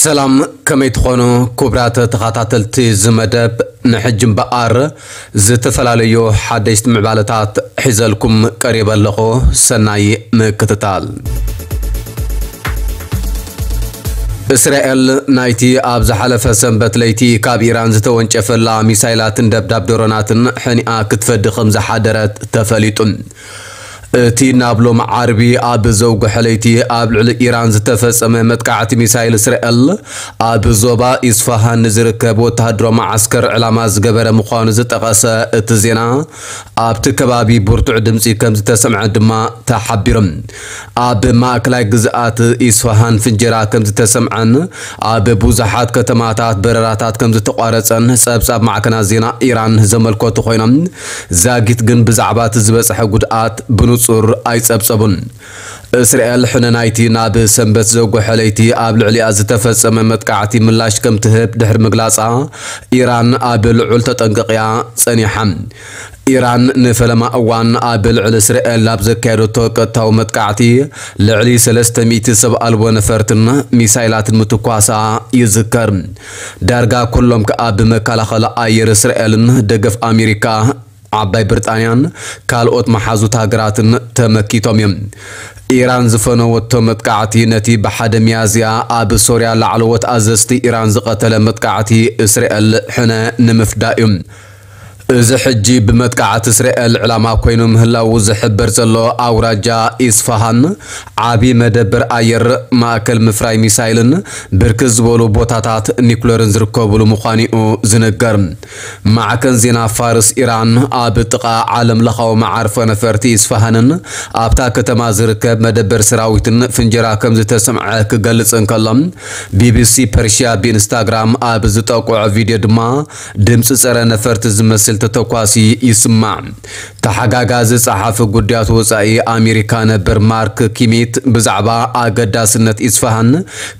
ሰላም፣ ከመይ ትኾኑ ክቡራት ተኸታተልቲ እዚ መደብ? ንሕጂ እምበኣር ዝተፈላለዩ ሓደሽቲ ምዕባለታት ሒዘልኩም ቀሪበ ኣለኹ። ሰናይ ምክትታል። እስራኤል ናይቲ ኣብ ዝሓለፈ ሰንበት ለይቲ ካብ ኢራን ዝተወንጨፈላ ሚሳይላትን ደብዳብ ድሮናትን ሕኒኣ ክትፈዲ ከም ዝሓደረት ተፈሊጡ። እቲ ናብ ሎም ዓርቢ ኣብ ዘውግሐ ለይቲ ኣብ ልዕሊ ኢራን ዝተፈጸመ መጥቃዕቲ ሚሳይል እስራኤል ኣብ ዞባ ኢስፋሃን ንዝርከብ ወተሃደራዊ መዓስከር ዕላማ ዝገበረ ምዃኑ ዝጠቐሰ እቲ ዜና፣ ኣብቲ ከባቢ ብርቱዕ ድምጺ ከም ዝተሰምዐ ድማ ተሓቢሩ። ኣብ ማእከላይ ግዝኣት ኢስፋሃን ፍንጀራ ከም ዝተሰምዐን ኣብ ብዙሓት ከተማታት በረራታት ከም ዝተቋረጸን ጸብጻብ ማዕከናት ዜና ኢራን ዘመልከቱ ኮይኖም፣ ዛጊት ግን ብዛዕባ እቲ ዝበጽሐ ጉድኣት ብንጹር ኣይጸብጸቡን። እስራኤል ሕነ ናይቲ ናብ ሰንበት ዘውግሐ ለይቲ ኣብ ልዕሊኣ ዝተፈጸመ መጥቃዕቲ ምላሽ ከም ትህብ ድሕሪ ምግላጻ፣ ኢራን ኣብ ልዑል ተጠንቀቕ እያ ጸኒሓ። ኢራን ንፈለማ እዋን ኣብ ልዕሊ እስራኤል ኣብ ዘካየደቶ ቀጥታዊ መጥቃዕቲ፣ ልዕሊ ሰለስተ ሚእቲ ሰብ ኣልቦ ነፈርትን ሚሳይላትን ምትኳሳ ይዝከር። ዳርጋ ኩሎም ከኣ ብመከላኸሊ ኣየር እስራኤልን ደገፍ ኣሜሪካ፣ ዓባይ ብሪጣንያን ካልኦት መሓዙት ሃገራትን ተመኪቶም እዮም። ኢራን ዝፈነወቶ መጥቃዕቲ ነቲ ብሓደ ሚያዝያ ኣብ ሶርያ ላዕለዎት ኣዘዝቲ ኢራን ዝቐተለ መጥቃዕቲ እስራኤል ሕነ ንምፍዳይ እዩ። እዚ ሕጂ ብመጥቃዕቲ እስራኤል ዕላማ ኮይኑ ምህላዉ ዝሕበር ዘሎ ኣውራጃ ኢስፋሃን፣ ዓቢ መደበር ኣየር፣ ማእከል ምፍራይ ሚሳይልን ብርክት ዝበሉ ቦታታት ኒኩለርን ዝርከብሉ ምዃኑ እዩ ዝንገር። ማዕከን ዜና ፋርስ ኢራን ኣብ ጥቓ ዓለም ለኻዊ መዓርፎ ነፈርቲ ኢስፋሃንን ኣብታ ከተማ ዝርከብ መደበር ሰራዊትን ፍንጀራ ከም ዝተሰምዐ ክገልጽ እንከሎ፣ ቢቢሲ ፐርሽያ ብኢንስታግራም ኣብ ዝጠቆዖ ቪድዮ ድማ ድምፂ ጸረ ነፈርቲ ዝመስል ተተኳሲ ይስማዕ። ተሓጋጋዚ ጸሓፊ ጉዳያት ወጻኢ ኣሜሪካ ነበር ማርክ ኪሚት ብዛዕባ ኣገዳስነት ኢስፋሃን፣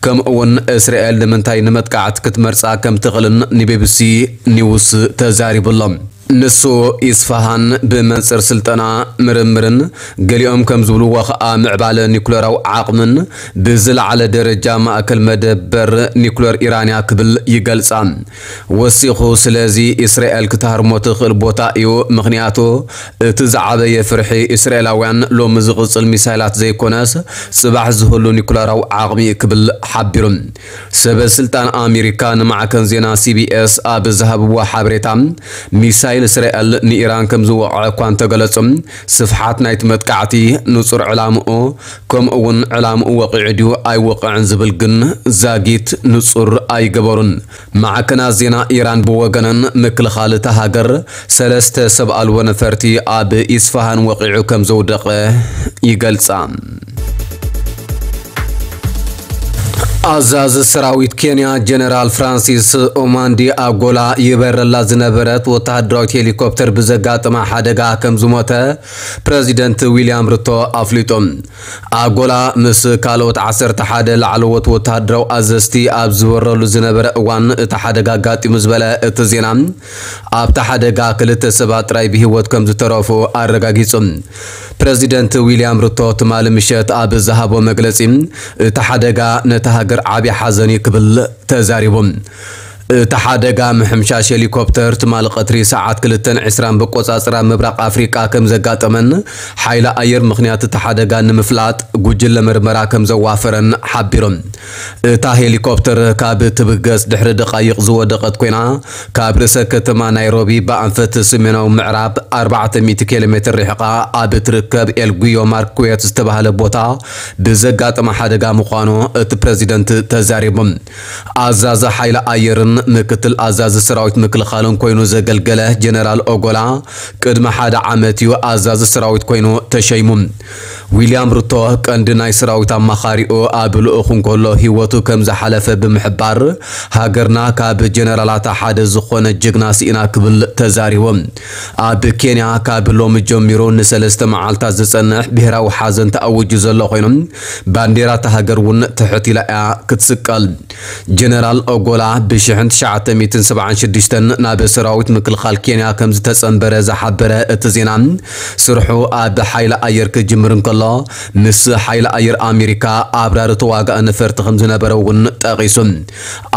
ከምኡ እውን እስራኤል ንምንታይ ንመጥቃዕቲ ክትመርጻ ከም ትኽእልን ንቢቢሲ ኒውስ ተዛሪቡ ኣሎ። ንሱ፣ ኢስፋሃን ብመንጽር ስልጠና፣ ምርምርን፣ ገሊኦም ከም ዝብልዎ ኸኣ ምዕባለ ኒኩለራዊ ዓቕምን ብዝለዓለ ደረጃ ማእከል መደበር ኒኩለር ኢራንያ ክብል ይገልጻ። ወሲኹ፣ ስለዚ እስራኤል ክትሃርሞ ትኽእል ቦታ እዩ፣ ምኽንያቱ እቲ ዝዓበየ ፍርሒ እስራኤላውያን ሎሚ ዝቕጽል ሚሳይላት ዘይኮነስ፣ ጽባሕ ዝህሉ ኒኩለራዊ ዓቕሚ እዩ ክብል ሓቢሩ። ሰበ ስልጣን ኣሜሪካ ንማዕከን ዜና ሲቢኤስ ኣብ ዝሃብዎ ሓበሬታ፣ ሚሳይል እስራኤል ንኢራን ከም ዝወቕዐ እኳ እንተገለጹ፣ ስፍሓት ናይቲ መጥቃዕቲ፣ ንጹር ዕላምኡ፣ ከምኡ እውን ዕላምኡ ወቒዑ ድዩ ኣይወቕዕን ዝብል ግን ዛጊት ንጹር ኣይገበሩን። ማዕከናት ዜና ኢራን ብወገነን፣ ምክልኻል እታ ሃገር ሰለስተ ሰብ ኣልቦ ነፈርቲ ኣብ ኢስፋሃን ወቒዑ ከም ዘውደቐ ይገልጻ። ኣዛዚ ሰራዊት ኬንያ ጀነራል ፍራንሲስ ኦማንዲ ኣጎላ ይበረላ ዝነበረት ወተሃደራዊት ሄሊኮፕተር ብዘጋጠማ ሓደጋ ከም ዝሞተ ፕረዚደንት ዊልያም ሩቶ ኣፍሊጡ። ኣጎላ ምስ ካልኦት ዓሰርተ ሓደ ላዕለዎት ወተሃደራዊ ኣዘዝቲ ኣብ ዝበረሉ ዝነበረ እዋን እቲ ሓደጋ ኣጋጢሙ ዝበለ እቲ ዜና፣ ኣብቲ ሓደጋ ክልተ ሰባት ጥራይ ብህይወት ከም ዝተረፉ ኣረጋጊጹ። ፕረዚደንት ዊልያም ሩቶ ትማሊ ምሸት ኣብ ዝሃቦ መግለጺ፣ እቲ ሓደጋ ነታ ሃገር ዓቢ ሓዘን እዩ ክብል ተዛሪቡ። እቲ ሓደጋ ምሕምሻሽ ሄሊኮፕተር ትማሊ ቀትሪ ሰዓት ክልተን ዕስራን ብቆጻጽራ ምብራቕ ኣፍሪቃ ከም ዘጋጠመን፣ ሓይሊ ኣየር ምኽንያት እቲ ሓደጋ ንምፍላጥ ጉጅለ መርመራ ከም ዘዋፈረን ሓቢሮም። እታ ሄሊኮፕተር ካብ ትብገስ ድሕሪ ደቓይቕ ዝወደቐት ኮይና፣ ካብ ርእሰ ከተማ ናይሮቢ ብኣንፈት ሰሜናዊ ምዕራብ ኣርባዕተ ሚእቲ ኪሎ ሜትር ርሒቓ ኣብ እትርከብ ኤልጉዮ ማርኩዌት ዝተባህለ ቦታ ብዘጋጠመ ሓደጋ ምዃኑ እቲ ፕረዚደንት ተዛሪቡ። ኣዛዚ ሓይሊ ኣየርን ምክትል ኣዛዚ ሰራዊት ምክልኻልን ኮይኑ ዘገልገለ ጀነራል ኦጎላ፣ ቅድሚ ሓደ ዓመት እዩ ኣዛዚ ሰራዊት ኮይኑ ተሸይሙ። ዊልያም ሩቶ፣ ቀንዲ ናይ ሰራዊት ኣማኻሪኡ፣ ኣብ ልኡኽ እንከሎ ህይወቱ ከም ዝሓለፈ ብምሕባር፣ ሃገርና ካብ ጀነራላታ ሓደ ዝኾነ ጅግና ስኢና ክብል ተዛሪቡ። ኣብ ኬንያ ካብ ሎሚ ጀሚሩ ንሰለስተ መዓልታት ዝጸንሕ ብሄራዊ ሓዘን ተኣዊጁ ዘሎ ኮይኑ፣ ባንዴራ እታ ሃገር እውን ትሕት ኢላ እያ ክትስቀል። ጀነራል ኦጎላ ብሽሕን ትሽዓተ ሚእትን ሰብዓን ሽዱሽተን ናብ ሰራዊት ምክልኻል ኬንያ ከም ዝተጸንበረ ዝሓበረ እቲ ዜና፣ ስርሑ ኣብ ሓይሊ ኣየር ክጅምር እንከሎ፣ ምስ ሓይሊ ኣየር ኣሜሪካ ኣብራሪ ተዋጋኢ ነፈርቲ ከም ዝነበረ እውን ጠቒሱ።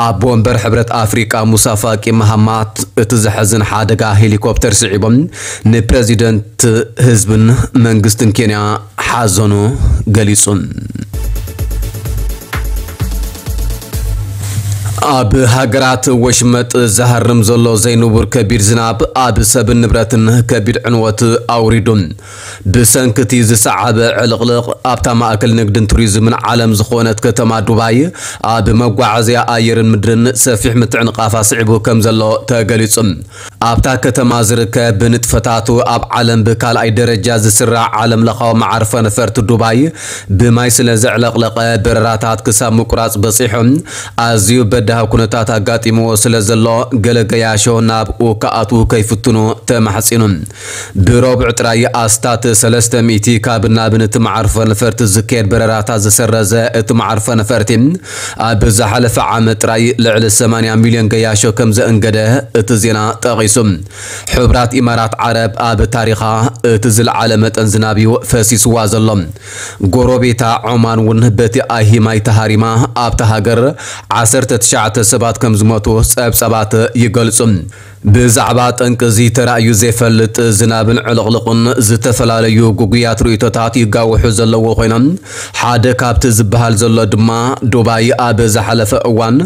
ኣቦ ወንበር ሕብረት ኣፍሪቃ ሙሳ ፋቂ መሃማት፣ እቲ ዘሕዝን ሓደጋ ሄሊኮፕተር ስዒቦም ንፕረዚደንት ህዝብን መንግስትን ኬንያ ሓዘኑ ገሊጹ። ኣብ ሃገራት ወሽመጥ ዝሃርም ዘሎ ዘይንቡር ከቢድ ዝናብ ኣብ ሰብን ንብረትን ከቢድ ዕንወት ኣውሪዱ። ብሰንኪ እቲ ዝሰዓበ ዕልቕልቕ ኣብታ ማእከል ንግድን ቱሪዝምን ዓለም ዝኾነት ከተማ ዱባይ ኣብ መጓዓዝያ ኣየርን ምድርን ሰፊሕ ምትዕንቓፍ ኣስዒቡ ከም ዘሎ ተገሊጹ። ኣብታ ከተማ ዝርከብ ብንጥፈታቱ ኣብ ዓለም ብካልኣይ ደረጃ ዝስራዕ ዓለም ለኻዊ መዓርፎ ነፈርቲ ዱባይ ብማይ ስለ ዘዕለቕለቐ በረራታት ክሳብ ምቁራጽ በጺሑ። ኣዝዩ በዳሂ ኩነታት ኣጋጢምዎ ስለ ዘሎ ገለ ገያሾ ናብኡ ክኣትዉ ከይፍትኑ ተማሕጺኑ። ብረቡዕ ጥራይ ኣስታት ሰለስተ ሚእቲ ካብ ናብን እቲ መዓርፎ ነፈርቲ ዝካየድ በረራታት ዝሰረዘ እቲ መዓርፎ ነፈርቲ፣ ኣብ ዝሓለፈ ዓመት ጥራይ ልዕሊ ሰማንያ ሚልዮን ገያሾ ከም ዘእንገደ እቲ ዜና ጠቒሱ። ሕቡራት ኢማራት ዓረብ ኣብ ታሪኻ እቲ ዝለዓለ መጠን ዝናብ እዩ ፈሲስዋ ዘሎ። ጎረቤታ ዖማን እውን በቲ ኣይሂ ማይ ተሃሪማ ኣብታ ሃገር ዓሰርተ ትሽዓተ ሰባት ከም ዝሞቱ ጸብጻባት ይገልጹ። ብዛዕባ ጠንቂ እዚ ተራእዩ ዘይፈልጥ ዝናብን ዕልቕልቑን ዝተፈላለዩ ግጉያት ርእይቶታት ይጋውሑ ዘለዉ ኮይኖም፣ ሓደ ካብቲ ዝበሃል ዘሎ ድማ ዱባይ ኣብ ዝሓለፈ እዋን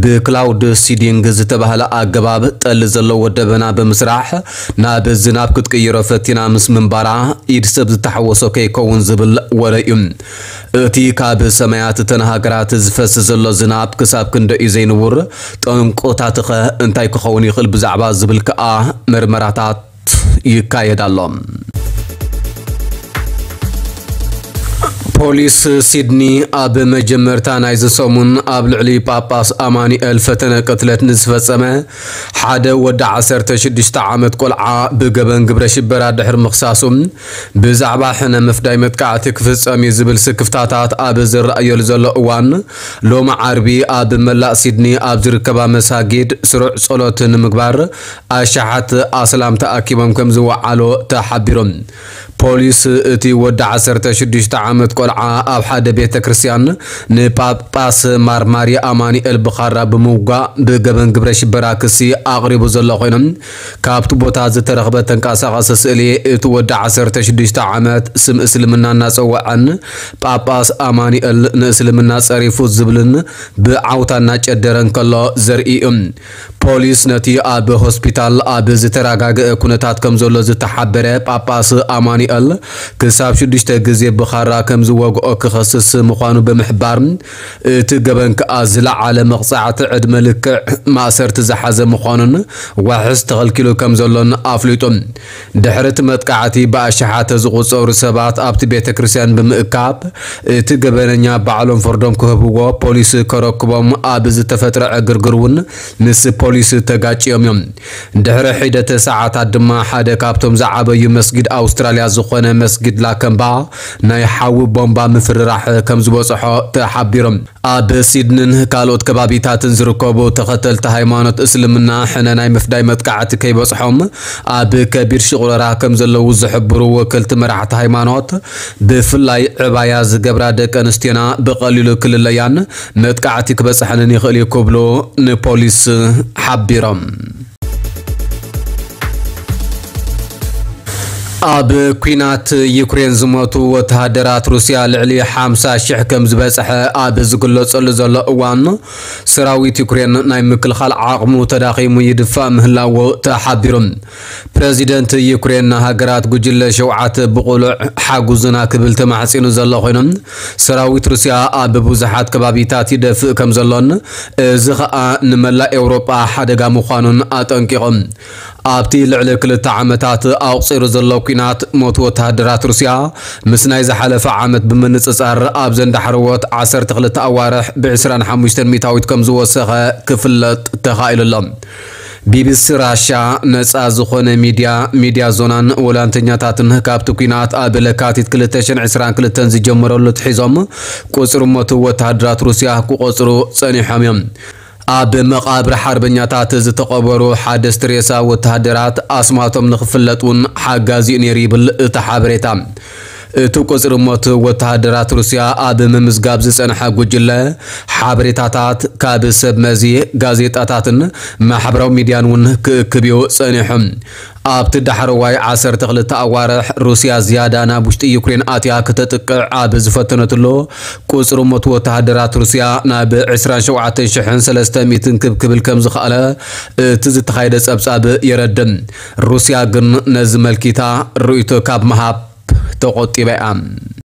ብክላውድ ሲዲንግ ዝተባህለ ኣገባብ ጠሊ ዘለዎ ደበና ብምስራሕ ናብ ዝናብ ክትቅይሮ ፈቲና ምስ ምንባራ ኢድ ሰብ ዝተሓወሶ ከይከውን ዝብል ወረ እዩ። እቲ ካብ ሰማያት እተን ሃገራት ዝፈስ ዘሎ ዝናብ ክሳብ ክንደይ እዩ ዘይንቡር፣ ጠንቆታትኸ እንታይ ክኸውን ይኽእል ብዛዕባ ዝብል ከኣ መርመራታት ይካየድ ኣሎ። ፖሊስ ሲድኒ ኣብ መጀመርታ ናይዚ ሰሙን ኣብ ልዕሊ ጳጳስ ኣማኑኤል ፈተነ ቅትለት ንዝፈጸመ ሓደ ወዲ ዓሰርተ ሽዱሽተ ዓመት ቆልዓ ብገበን ግብረ ሽበራ ድሕሪ ምኽሳሱ፣ ብዛዕባ ሕነ ምፍዳይ መጥቃዕቲ ክፍጸም እዩ ዝብል ስክፍታታት ኣብ ዝረኣየሉ ዘሎ እዋን፣ ሎሚ ዓርቢ ኣብ መላእ ሲድኒ ኣብ ዝርከባ መሳጊድ ስሩዕ ጸሎት ንምግባር ኣሽሓት ኣስላም ተኣኪቦም ከም ዝወዓሉ ተሓቢሩ። ፖሊስ እቲ ወዲ ዓሰርተ ሽዱሽተ ዓመት ቆልዓ ኣብ ሓደ ቤተ ክርስቲያን ንጳጳስ ማር ማሪ ኣማኑኤል ብኻራ ብምውጋእ ብገበን ግብረ ሽበራ ክሲ ኣቕሪቡ ዘሎ ኮይኑ፣ ካብቲ ቦታ ዝተረኽበ ተንቀሳቓሲ ስእሊ እቲ ወዲ ዓሰርተ ሽዱሽተ ዓመት ስም እስልምና እናጸወዐን ጳጳስ ኣማኑኤል ንእስልምና ጸሪፉ ዝብልን ብዓውታ እናጨደረ እንከሎ ዘርኢ እዩ። ፖሊስ ነቲ ኣብ ሆስፒታል ኣብ ዝተረጋገአ ኩነታት ከም ዘሎ ዝተሓበረ ጳጳስ ኣማኑኤል ክሳብ ሽዱሽተ ግዜ ብኻራ ከም ዝወግኦ ክኸስስ ምዃኑ ብምሕባር፣ እቲ ገበን ከኣ ዝለዓለ መቕጻዕቲ ዕድመ ልክዕ ማእሰርቲ ዝሓዘ ምዃኑን ዋሕስ ተኸልኪሉ ከም ዘሎን ኣፍሊጡ። ድሕሪ እቲ መጥቃዕቲ ብኣሽሓት ዝቑጸሩ ሰባት ኣብቲ ቤተ ክርስቲያን ብምእካብ፣ እቲ ገበነኛ ባዕሎም ፍርዶም ክህብዎ ፖሊስ ከረክቦም ኣብ ዝተፈጥረ ዕግርግር እውን ምስ ፖሊስ ተጋጭዮም እዮም። ድሕሪ ሒደተ ሰዓታት ድማ ሓደ ካብቶም ዝዓበዩ መስጊድ ኣውስትራልያ ዝኾነ መስጊድ ላከምባ ናይ ሓዊ ቦምባ ምፍርራሕ ከም ዝበጽሖ ተሓቢሮም። ኣብ ሲድንን ካልኦት ከባቢታትን ዝርከቡ ተኸተልቲ ሃይማኖት እስልምና ሕነ ናይ ምፍዳይ መጥቃዕቲ ከይበጽሖም ኣብ ከቢድ ሽቑረራ ከም ዘለዉ ዝሕብሩ ወከልቲ መራሕቲ ሃይማኖት፣ ብፍላይ ዕባያ ዝገብራ ደቂ ኣንስትዮና ብቐሊሉ ክልለያን መጥቃዕቲ ክበጽሐንን ይኽእል እዩ ክብሉ ንፖሊስ ሓቢሮም። ኣብ ኲናት ዩክሬን ዝሞቱ ወተሃደራት ሩስያ ልዕሊ ሓምሳ ሽሕ ከም ዝበጽሐ ኣብ ዝግለጸሉ ዘሎ እዋን፣ ሰራዊት ዩክሬን ናይ ምክልኻል ዓቕሙ ተዳኺሙ ይድፋእ ምህላዉ ተሓቢሩ። ፕረዚደንት ዩክሬን፣ ንሃገራት ጉጅለ ሸውዓተ ብቕሉዕ ሓጉዙና ክብል ተማሕጺኑ ዘሎ ኮይኑ፣ ሰራዊት ሩስያ ኣብ ብዙሓት ከባቢታት ይደፍእ ከም ዘሎን፣ እዚ ኸኣ ንመላእ ኤውሮጳ ሓደጋ ምዃኑን ኣጠንቂቖም። ኣብቲ ልዕሊ ክልተ ዓመታት ኣቑጺሩ ዘሎ ኲናት፣ ሞት ወተሃደራት ሩስያ ምስ ናይ ዝሓለፈ ዓመት ብምንጽጻር ኣብዘን ዳሕረዎት ዓሰርተ ክልተ ኣዋርሕ ብዕስራን ሓሙሽተን ሚእታዊት ከም ዝወሰኸ ክፍለጥ ተኻኢሉ ኣሎ። ቢቢሲ ራሻ፣ ነጻ ዝኾነ ሚድያ፣ ሚድያ ዞናን ወላንተኛታትን ካብቲ ኲናት ኣብ ለካቲት ክልተ ሽሕን ዕስራን ክልተን ዝጀመረሉ ኣትሒዞም ቁጽሪ ሞት ወተሃደራት ሩስያ ክቆጽሩ ጸኒሖም እዮም። ኣብ መቓብር ሓርበኛታት ዝተቐበሩ ሓደስቲ ሬሳ ወተሃደራት ኣስማቶም ንኽፍለጥ እውን ሓጋዚ እዩ ነይሩ ይብል እቲ ሓበሬታ። እቲ ቁጽሪ ሞት ወተሃደራት ሩስያ ኣብ ምምዝጋብ ዝጸንሐ ጉጅለ ሓበሬታታት ካብ ሰብ መዚ፣ ጋዜጣታትን ማሕበራዊ ሚድያን እውን ክእክብ እዩ ጸኒሑ። ኣብቲ ዳሕረዋይ ዓሰርተ ክልተ ኣዋርሕ ሩስያ ዝያዳ ናብ ውሽጢ ዩክሬን ኣትያ ክተጥቅዕ ኣብ ዝፈተነትሉ ቁጽሪ ሞት ወተሃደራት ሩስያ ናብ ዕስራን ሸውዓተን ሽሕን ሰለስተ ሚእትን ክብ ክብል ከም ዝኸኣለ እቲ ዝተኻየደ ጸብጻብ የረድእ። ሩስያ ግን ነዚ መልኪታ ርእይቶ ካብ ምሃብ ተቖጢባ እያ።